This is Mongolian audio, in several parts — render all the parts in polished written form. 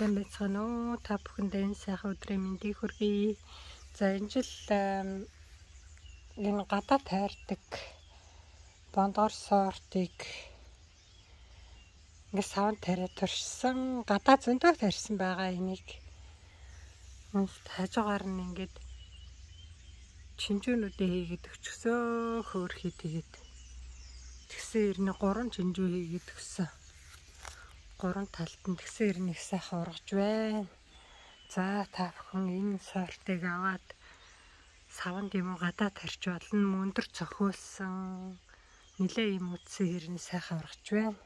сайн байцгаана уу? Та бүхэндээ энэ сайхан өдрийн мэндийг хүргэе. За энэ жил энэ гадаа тайрдаг бондгор сортыг ингэ савн тариа туршсан, гадаа зөндөө тарьсан байгаа энийг. Хажуугаар нь ингээд чинжүүнүүдээ хийгээд өчгсөө хөөрхий тэгээд тэгсэн ирнэ 3 чинжүү хийгээд өгсөн. 3 талд нь тэгсэн ирнэ их сайхан ургаж байна. За та бүхэн энэ сортыг аваад савнд юм уу гадаа тарьж болно. Мөндөр цохиулсан нилээ юм үтсэн ирнэ сайхан ургаж байна.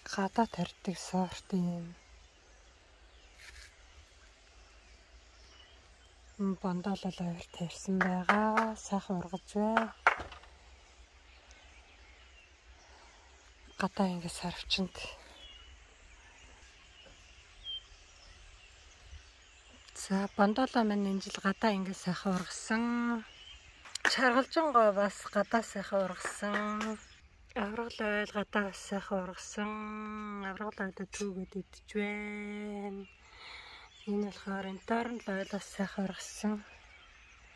Гадаа тарьдаг сорт юм. Энэ бондоолол авир тарьсан байгаа. Сайхан ургаж байна. Гадаа ингэ сарвчанд. За бондоолоо маань энэ жил гадаа ингэ сайхан ургасан. Шаргалжингоо бас гадаа сайхан ургасан. Аврал ойл гадаа сайхан ургасан. Аврал ойлоо түүгээд идэж байна. Энэ болохоор энэ дорн ойлоос сайхан ургасан.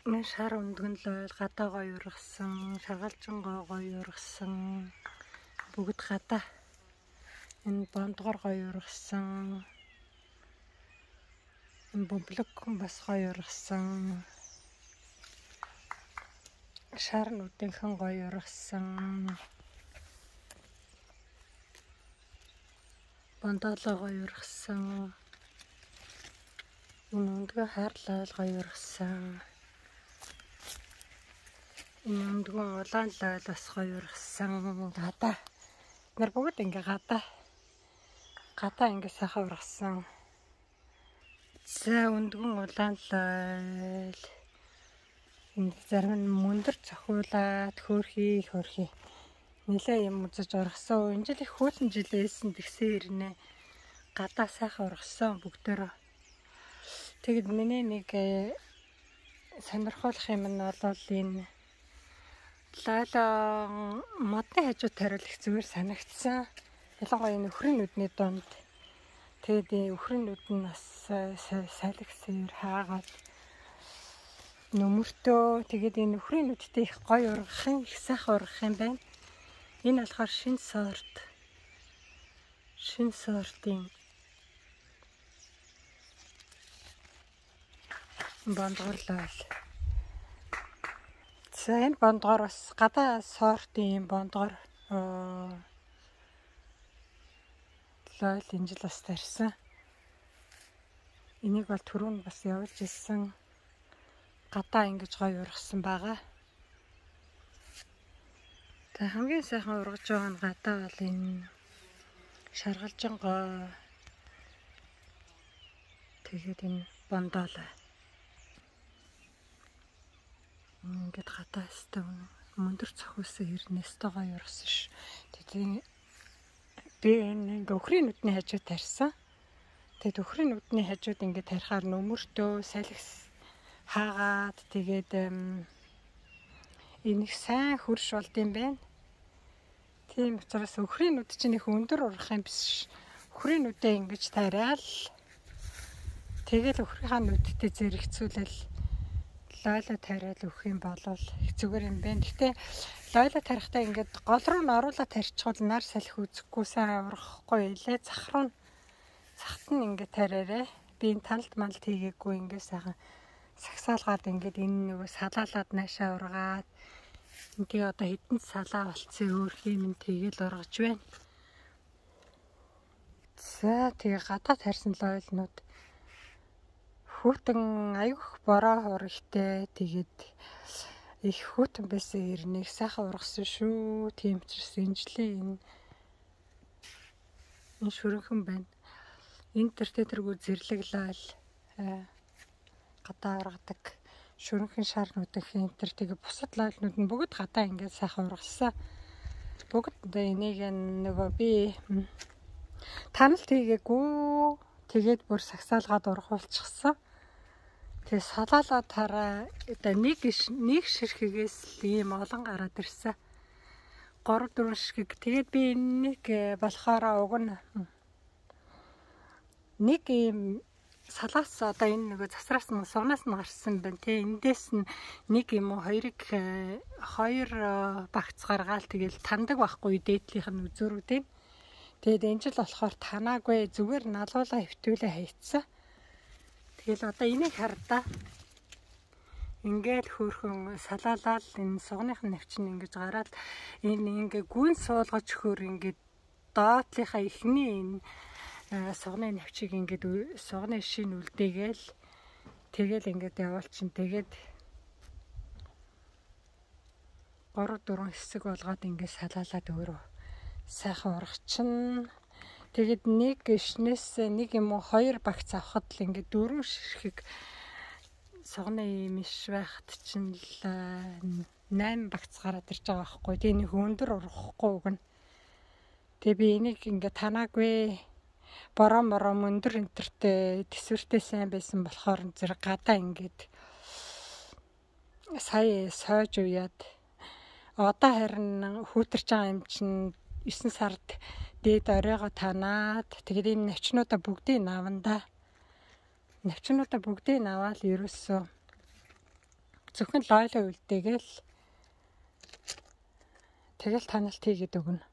Энэ шар өндгөн ойл гадаа гоё ургасан. Шаргалжингоо гоё ургасан. Бүгд гадаа. Энэ бондгор гоё ургасан. Энэ бөмбөлөг бас гоё ургасан. Шар нүдийнхэн гоё ургасан. Бондоолоо гоё ургасан. Энэ өндгөө хайрлал гоё ургасан. Энэ өндгөө улаан лойл бас гоё ургасан. Гадаа. Нар бүгд ингээ гадаа ингээ сайхан ургасан. За өндгөн улаан лойл. Энэ зарим нь мөндөр цохиулаад хөөрхий нилээ юм үзэж ургасан. Энэ жил их хөлн жилээсэн тэгсэн ирнэ. Гадаа сайхан ургасан бүгдөө. Тэгэд миний нэг сонирхолтой юм нь бол энэ лайлаа модны хажуу тариул их зүгээр санагдсан. Ялангуяа энэ өхрийн нүдний донд. Тэгээд өхрийн нүд нь бас салгисээр хаагаад нөмөртөө. Тэгээд энэ өхрийн нүдтэй их гоё ургах их сайхан ургах юм байна. Энэ болохоор шинэ сортын бондгор лойл. За энэ бондгор бас гадаа сортын бондгор лойл энэ жил бас тарьсан. Энийг бол түрүүн бас явуулж ирсэн. Гадаа ингэж гоё ургасан байгаа. Та хамгийн сайхан ургаж байгаа нь гадаа бол энэ шаргалжингоо. Тэгээд энэ бондоолоо. Ингээд гадаа өстэй мөндөр цохиулсан хэрнээс тэ гоё ургасан ш. Тэгээд би энэ өхрийн нүдний хажууд тарьсан. Тэгээд өхрийн нүдний хажууд ингээд тарихаар нөмөртөө салгис хаагаад тэгээд энийг сайн хөрш болд юм байна. Тийм учраас өхрийн нүд чинь их өндөр ургах юм биш. Өхрийн нүдээ ингэж тариал. Тэгэл өхрийнхаа нүдтэй зэрэгцүүлэл лойла тариал өгөх юм бол их зүгээр юм байна. Гэтэ лойла тарихтаа ингээд гол руу н оруулаад тарьчихвал нар салхи үзэхгүй сайн ургахгүй илээ. Цагт нь ингээд тариарэ. Би энэ талд малд хийгээгүй ингээд сайхан сагсаалгаад ингээд энэ нөгөө салаалаад наашаа ургаад энэ одоо хэдэн салаа болцсон өөрхий минь тэгэл ургаж байна. За тэгээ гадаа тарьсан лойлнууд хүүтэн аюух бороо урагтай тэгээд их хүүтэн байсан ирнэ сайхан ургасан шүү. Тийм учраас энэ жилийн энэ шүрэнхэн байна. Энэ тэргүй зэрлэг лойл гадаа ургадаг шүрэнхэн шарнуудын энэ тэгээ бусад лойлнууд нь бүгд гадаа ингээд сайхан ургасан. Бүгд энийг нөгөө би таналт хийгээгүй. Тэгээд бүр сагсаалгаад ургуулчихсан. Тэгээ салаалаа тараа нэг ширхгээс ийм олон гараад ирсэн. 3-4 ширхэг. Тэгээд би нэг болохоор уг нь нэг юм салаас одоо энэ нөгөө засраас нь сугнаас нь гарсан байна тий. Эндээс нь нэг юм уу хоёр багц гаргаал тэгэл тандаг байхгүй дээдлийнх нь үзүүрүү тий. Тэгээд энэ жил болохоор танаагүй зүгээр налуулаа хөвтүүлээ хайцсан. Тэгэл одоо энийг хардаа. Ингээл хөөрхөн салаалал энэ сугныхын навчин ингэж гараад энэ ингээ гүн суулгаж хөр ингээд доотлынхаа ихний энэ сугны навчиг ингээд сугны шин үлдээгээл тэгэл ингээд явуулчин тэгээд 3-4 хэсэг болгоод ингээд салаалаад өөрөө сайхан ургачин. Тэгэд нэг гişнээс нэг юм уу 2 багц авахад л ингээд 4 ширхэг сугны юм иш байхад чинь л 8 багц гараад ирж байгаа байхгүй. Тэгээ нэг өндөр ургахгүй үг нь. Тэгээ би энийг ингээ танаагүй бороо өндөр энтертэй төсвөртэй сайн байсан болохоор зэрэг гадаа ингээд сая сойж уяад одоо харин хүүтэрч байгаа юм чинь 9 сард дээд оройгоо танаад тэгээд энэ навчнуудаа бүгдийг наванда. Навчнуудаа бүгдийг наваад ерөөсөө зөвхөн лойлоо үлдээгээл тэгэл таналт хийгээд өгнө.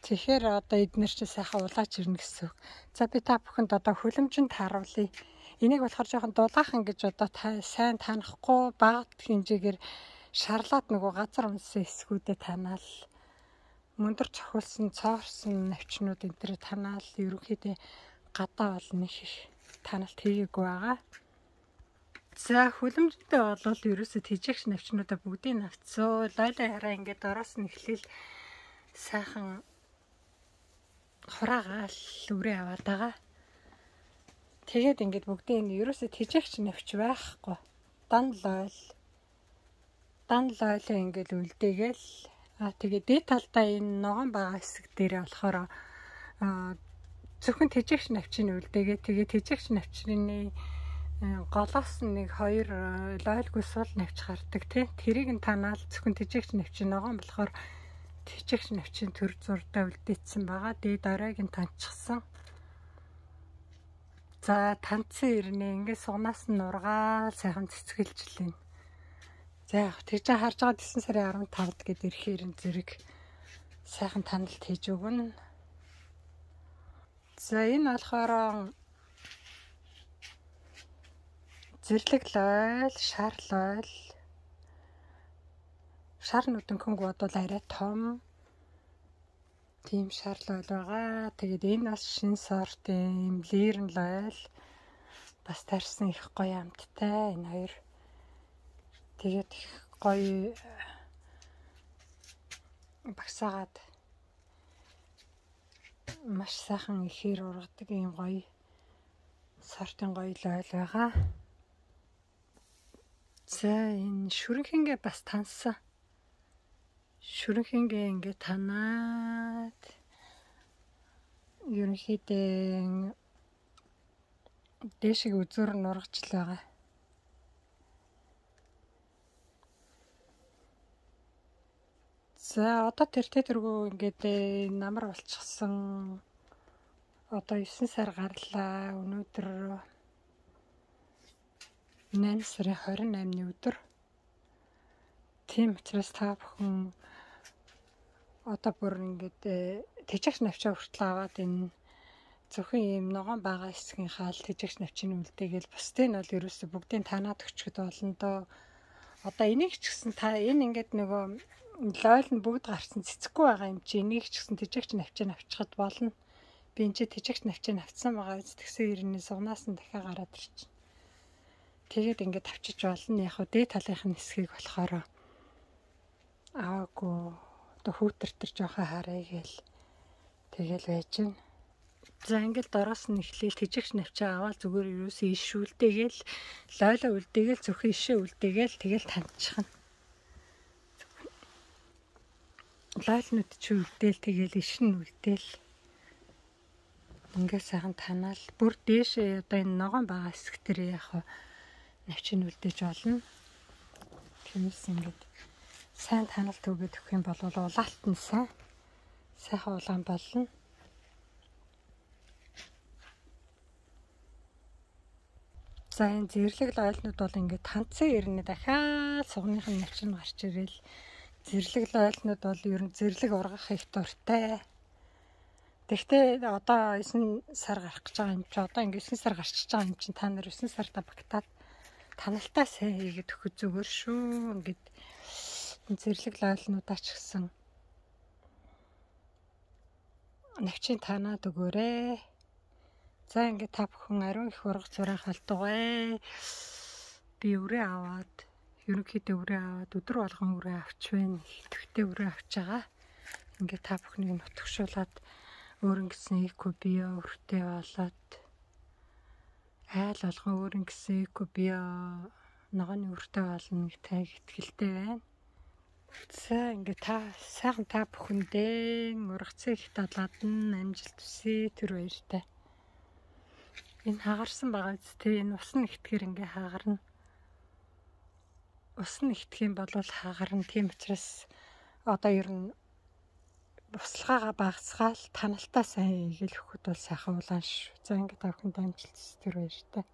Тэгэхээр одоо эднэр чи сайхан улаач ирнэ гэсэн үг. За би та бүхэнд одоо хүлэмжинд харуулъя. Энийг болохоор жоохон дулаахан гэж одоо сайн танахгүй бага хэмжээгээр шарлаад нөгөө газар унсан эсгүүдэд танаал мөндөр цохилсон цоорсон навчнууд энэ төр танаал ерөнхийдөө гадаа бол нэг таналт хийгээгүй байгаа. За хүлэмжтэй болвол ерөөсө тэжээгч навчнуудаа бүгдийг навцсан. Лойлоо хараа ингээд ороос нь эхлээл сайхан хураагаал үрээ аваад байгаа. Тэгээд ингээд бүгдийг нь ерөөсө тэжээгч навч байхгүй. Дан лойлоо ингээд үлдээгээл тэгээд дээд талдаа энэ ногоон байгаа хэсэг дээр болохоор зөвхөн тэжээгч навчийг үлдээгээ тэгээд тэжээгч навчны голоос нэг 2 лойлгүй сул навч гардаг тий. Тэрийг нь танаал зөвхөн тэжээгч навчин ногоон болохоор тэжээгч навчин төр зурдаа үлдээсэн байгаа. Дээд оройг нь таньчихсан. За танцсан ирнэ ингээд сугнаас нь нургаал сайхан цэцгэлжлээ. За яг тэгж харж байгаа 9 сарын 15-д гээд ирэхээр зэрэг сайхан таналт хийж өгнө. За энэ болохоор зэрлэг лойл, шар лойл. Шар нүдэнхэнг бодвол арай том. Тийм шар лойл байгаа. Тэгээд энэ бас шинэ сортын лирэн лойл. Бас тарьсан их гоё амттай энэ хоёр. Тэгээд их гоё багсаагаад маш сайхан ихээр ургадаг юм гоё сортын гоё лойл байгаа. За энэ шүрэнхэнгээ бас таньсан. Шүрэнхэнгээ ингээд танаад ерөнхийдөө дэшиг үзүүр нь ургаж л байгаа. За одоо тэргүү ингээд намар болчихсон. Одоо 9 сар гарлаа. Өнөөдөр 8 сарын 28-ны өдөр. Тийм учраас та бүхэн одоо бүр ингээд тэжээгч навчаа хүртэл аваад энэ зөвхөн ийм ногоон бага хэсгийн хаал тэжээгч навчны үлдээгээл бусдыг нь бол ерөөсө бүгдийг танаад өчгөд болно доо. Одоо энийг ч гэсэн та энэ ингээд нөгөө лойл нь бүгд гарсан цэцэхгүй байгаа юм чи энийг ч гэсэн тэжээгч навчаа авчихад болно. Би энэ чи тэжээгч навчаа авцсан байгаа биз тэгсэн ирнэ сугнаас нь дахиад гараад ирчихнэ. Тэгээд ингээд авчиж болно. Яг хөө дээд талынхын хэсгийг болохоор аваагүй одоо хүүтэртэр жоохон харъя гээл тэгэл байж гэн. За ингээд дороос нь эхлээл тэжээгч навчаа аваад зүгээр юусэн иш үлдээгээл лойлоо үлдээгээл зөвхөн ишээ үлдээгээл тэгэл таньчихна. Лойлнууд чи үлдээл тэгэл иш нь үлдээл ингээд сайхан танаал бүр дээшээ одоо энэ ногоон байгаа хэсэг дээр яг навчиг үлдээж болно. Тиймээс ингээд сайн таналт өгөөд өгөх юм бол улаалт нь сайхан улаан болно. За энэ зэрлэг ойлнууд бол ингээд танцсан ирнэ дахиад сугныхын навчин гарч ирэл. Зэрлэг ойлнууд бол ер нь зэрлэг ургах их дуртай. Тэгтээ одоо 9 сар гарах гэж байгаа юм чи одоо ингээд 9 сар гарчиж байгаа юм чи та нар 9 сарда багтаад таналтаа сайн хийгээд өгөх зүгээр шүү. Ингээд зэрлэг ойлнуудаа ч гэсэн навчин танаад өгөөрэй. За ингээд та бүхэн ариун их ургац зураг халдугай. Би өрөө аваад ерөнхийдөө өрөө аваад өдөр болгон өрөө авч байна. Төвхтэй өрөө авч байгаа. Ингээд та бүхнийг нутгшуулаад өөрөнгө гэсэн эко био өртөө болоод айл болгон өөрөнгө гэсэн эко био ногооны өртөө болно гэх итгэлтэй байна. За ингээд сайхан та бүхэндээ ургацын их талаад нь амжилт хүсье тэр баяртай. Энэ хагарсан байгаа зү энэ ус нэгтгэхэр ингээ хагарна. Ус нэгтгэх юм бол хагарна. Тийм учраас одоо ер нь буслахаагаа багасгаал таналтаа сайн хийгээл өгөхөд бол сайхан улаан шүү. За ингээ та бүхэнд амжилт хүсье тэр баяртай.